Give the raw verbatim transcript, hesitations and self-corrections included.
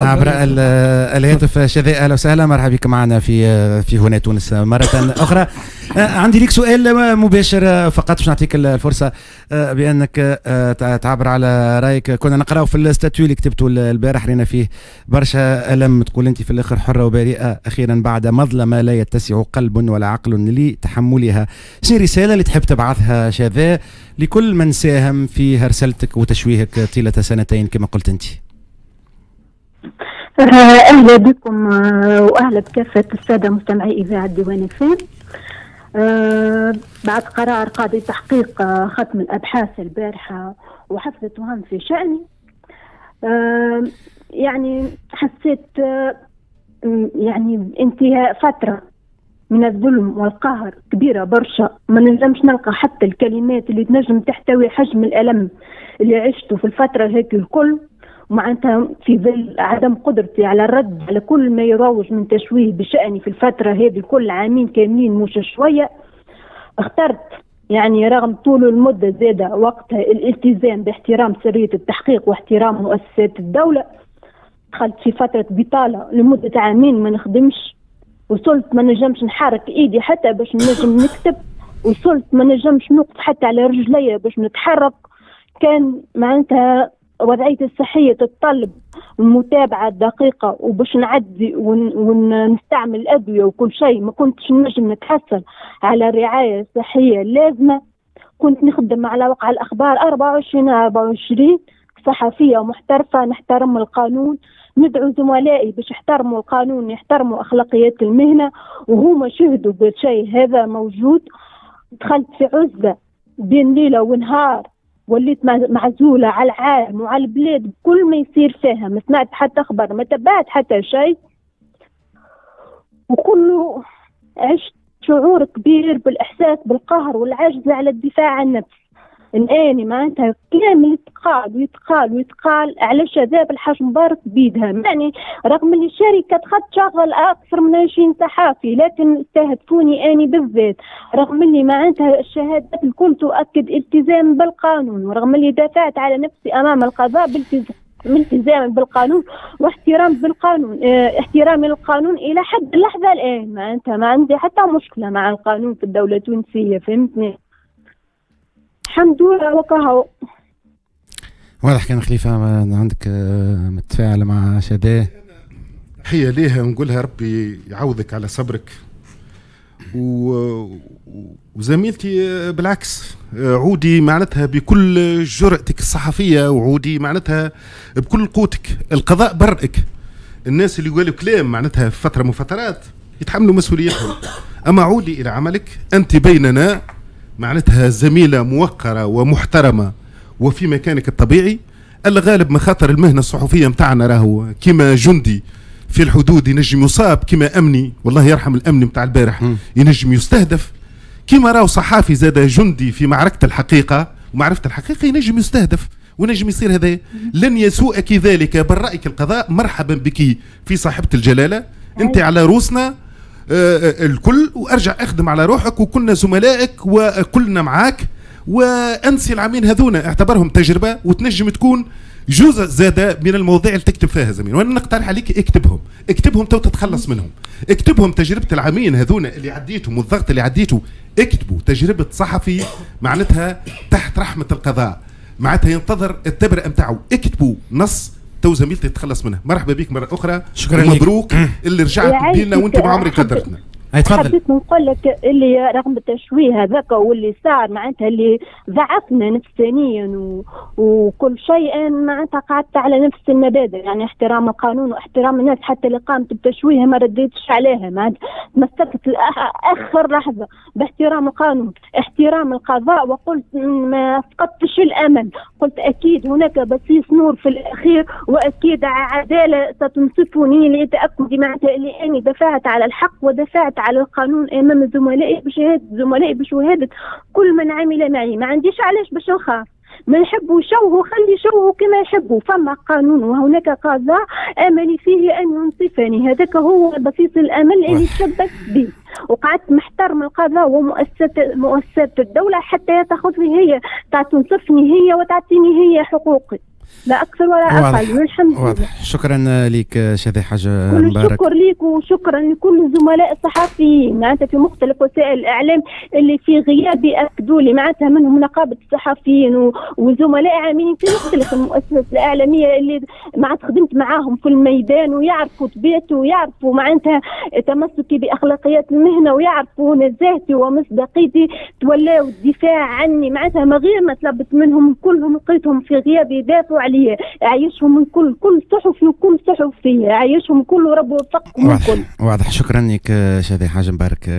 عبر الهاتف. شذى اهلا وسهلا، مرحبا بك معنا في في هنا تونس مرة اخرى. عندي لك سؤال مباشر فقط باش نعطيك الفرصة بانك تعبر على رايك. كنا نقراو في ال statut اللي كتبته البارح، رينا فيه برشا الم، تقول انت في الاخر حره وبريئه اخيرا بعد مظلمة لا يتسع قلب ولا عقل لتحملها. شنو الرسالة اللي تحب تبعثها شذى لكل من ساهم في هرسلتك وتشويهك طيلة سنتين كما قلت انت؟ اهلا بكم واهلا بكافة السادة مستمعي اذاعة ديوان اف ام. بعد قرار قاضي تحقيق ختم الابحاث البارحة وحفظ التهم في شاني، يعني حسيت يعني انتهاء فترة من الظلم والقهر كبيرة برشا، ما نجمش نلقى حتى الكلمات اللي تنجم تحتوي حجم الالم اللي عشته في الفترة هيك الكل، ومعناتها في ظل عدم قدرتي على الرد على كل ما يروج من تشويه بشأني في الفترة هذه كل عامين كاملين مش شوية. اخترت يعني رغم طول المدة زادة وقتها الالتزام باحترام سرية التحقيق واحترام مؤسسات الدولة. دخلت في فترة بطالة لمدة عامين ما نخدمش، وصلت ما نجمش نحرك ايدي حتى باش نجم نكتب، وصلت ما نجمش نوقف حتى على رجلي باش نتحرك. كان معناتها وضعيتي الصحية تتطلب المتابعة الدقيقة وباش نعدي ون... ونستعمل الأدوية وكل شيء، ما كنتش نجم نتحصل على الرعاية الصحية اللازمة. كنت نخدم على وقع الأخبار أربعة وعشرين أربعة وعشرين، صحفية محترفة، نحترم القانون، ندعو زملائي باش يحترموا القانون، يحترموا أخلاقيات المهنة، وهما شهدوا بالشيء هذا موجود. دخلت في عزلة بين ليلة ونهار، وليت معزولة على العالم وعلى البلاد بكل ما يصير فيها، ما سمعت حتى خبر، ما تبعت حتى شيء، وكله عشت شعور كبير بالإحساس بالقهر والعجز على الدفاع عن النفس. الآن معناتها كلام يتقال ويتقال ويتقال على شباب الحاج مبارك بيدها، يعني رغم اللي الشركة تشغل أكثر من عشرين صحافي لكن استهدفوني أني بالذات، رغم اللي معناتها الشهادات الكل تؤكد التزام بالقانون، ورغم اللي دافعت على نفسي أمام القضاء بالتزام التزام بالقانون واحترام بالقانون، اه احترامي للقانون إلى حد اللحظة الآن. معناتها ما عندي حتى مشكلة مع القانون في الدولة التونسية، فهمتني؟ الحمد لله وكهو. واضح. كان خليفة عندك متفاعل مع شذى؟ تحية ليها ونقولها ربي يعوضك على صبرك. و... وزميلتي بالعكس، عودي معناتها بكل جرأتك الصحفية، وعودي معناتها بكل قوتك. القضاء برئك. الناس اللي قالوا كلام معناتها في فترة من فترات يتحملوا مسؤوليتهم، أما عودي إلى عملك، أنت بيننا معناتها زميلة موقرة ومحترمة وفي مكانك الطبيعي. الغالب مخاطر المهنة الصحفية متاعنا راهو كما جندي في الحدود ينجم يصاب، كما أمني والله يرحم الأمن متاع البارح ينجم يستهدف، كما راهو صحافي زاد جندي في معركة الحقيقة ومعرفة الحقيقة ينجم يستهدف ونجم يصير هذا. لن يسوءك ذلك، برأيك القضاء. مرحبا بك في صاحبة الجلالة، أنت على روسنا الكل، وارجع اخدم على روحك، وكلنا زملائك وكلنا معاك. وانسي العامين هذونا، اعتبرهم تجربه وتنجم تكون جزء زاده من المواضيع اللي تكتب فيها زميل. وانا نقترح عليك اكتبهم، اكتبهم تو تتخلص منهم، اكتبهم تجربه العامين هذونا اللي عديتهم والضغط اللي عديته، اكتبوا تجربه صحفي معناتها تحت رحمه القضاء، معناتها ينتظر التبرئه نتاعو. اكتبوا نص تو زميلتي تتخلص منها. مرحبا بك مرة اخرى، شكرا لك، مبروك اللي رجعت بينا وانت ما عمرك قدرتنا. تفضل. حبيت نقول لك اللي رغم التشويه هذاك واللي صار معناتها اللي ضعفنا نفسانيا و... وكل شيء، معناتها قعدت على نفس المبادئ، يعني احترام القانون واحترام الناس، حتى اللي قامت بتشويه ما رديتش عليها، معناتها تمسكت لاخر لحظة باحترام القانون، احترام القضاء، وقلت ما فقدتش الامل، قلت اكيد هناك بصيص نور في الاخير، واكيد عدالة ستنصفني لتاكدي معناتها اللي اني دفعت على الحق ودفعت على القانون امام زملائي، بشهادة زملائي، بشهادة كل من عمل معي. ما عنديش علاش باش نخاف، ما يحبوا يشوهوا خلي يشوهوا كما يحبوا، فما قانون وهناك قضاء املي فيه ان ينصفني، هذاك هو بصيص الامل اللي تشبثت به، وقعدت محترم القضاء ومؤسسة مؤسسات الدولة حتى تاخذني هي، تنصفني هي وتعطيني هي حقوقي. لا اكثر ولا اقل، والحمد لله. واضح، شكرا لك شذى حاجة مبارك. شكرا لك وشكرا لكل الزملاء الصحفيين معناتها في مختلف وسائل الاعلام اللي في غيابي اكدوا لي، معناتها منهم نقابة الصحفيين وزملاء عاملين في مختلف المؤسسات الاعلامية اللي معناتها خدمت معاهم في الميدان، ويعرفوا طبيعتي ويعرفوا معناتها تمسكي باخلاقيات المهنة ويعرفوا نزاهتي ومصداقيتي، تولاو الدفاع عني معناتها ما غير ما طلبت منهم، كلهم لقيتهم في غيابي يدافعوا عليا. عايشهم من كل كل صحفي وكل صحفية، عايشهم كل ورب وفقهم. واضح الكل. واضح، شكرا لك شذى حاجة مبارك.